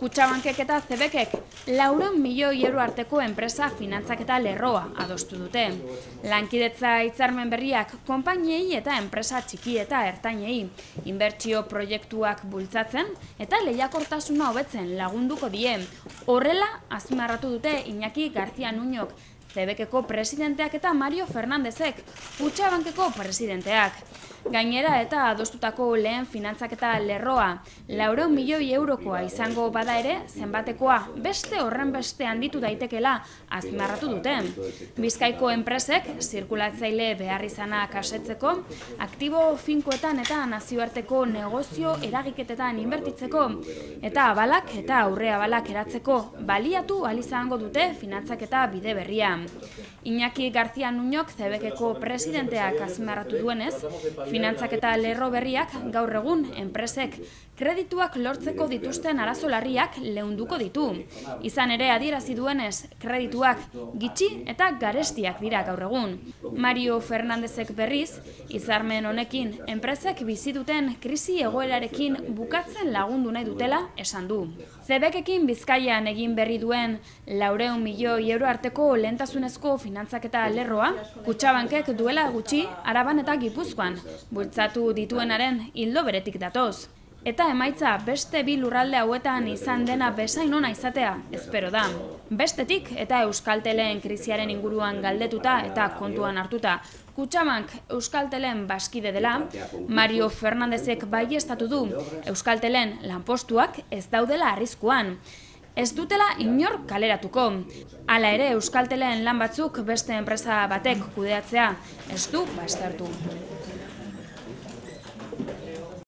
Kutxabankek eta Cebekek 400 milioi euro arteko enpresa finantzaketa lerroa adostu dute. Lankidetza hitzarmen berriak konpainiei eta enpresa txiki eta ertainei inbertsio proiektuak bultzatzen eta lehiakortasuna hobetzen lagunduko die. Horrela azpimarratu dute Iñaki García Nuñok, Cebekeko presidenteak eta Mario Fernándezek, Kutxabankeko presidenteak. Gainera eta adostutako lehen finantzaketa lerroa 400 milioi eurokoa izango bada ere, zenbatekoa beste horren beste handitu daitekela azpimarratu dute. Bizkaiko enpresek zirkulatzaile behar izanak asetzeko, aktibo finkoetan eta nazioarteko negozio eragiketetan inbertitzeko, eta abalak eta aurre abalak eratzeko baliatu ahal izango dute finantzaketa bide berria. Iñaki García Nuñok, Cebekeko presidenteak azpimarratu duenez, finantzaketa lerro berriak gaur egun enpresek kredituak lortzeko dituzten arazo larriak leunduko ditu. Izan ere adierazi duenez, kredituak gitxi eta garestiak dira gaur egun. Mario Fernándezek berriz, hitzarmen honekin enpresek bizi duten krisi egoerarekin bukatzen lagundu nahi dutela esan du. Cebekekin Bizkaian egin berri duen 400 milioi euro arteko lehentasunezko finantzaketa lerroa, Kutxabankek duela gutxi Araban eta Gipuzkoan bultzatu dituenaren ildo beretik datoz. Eta emaitza beste bi lurralde hauetan izan dena bezain ona izatea espero da. Bestetik eta Euskaltelen krisiaren inguruan galdetuta eta kontuan hartuta Kutxabank Euskaltelen bazkide dela, Mario Fernándezek baieztatu du Euskaltelen lanpostuak ez daudela arriskuan. Ez dutela inor kaleratuko. Hala ere Euskaltelen lan batzuk beste enpresa batek kudeatzea ez du baztertu.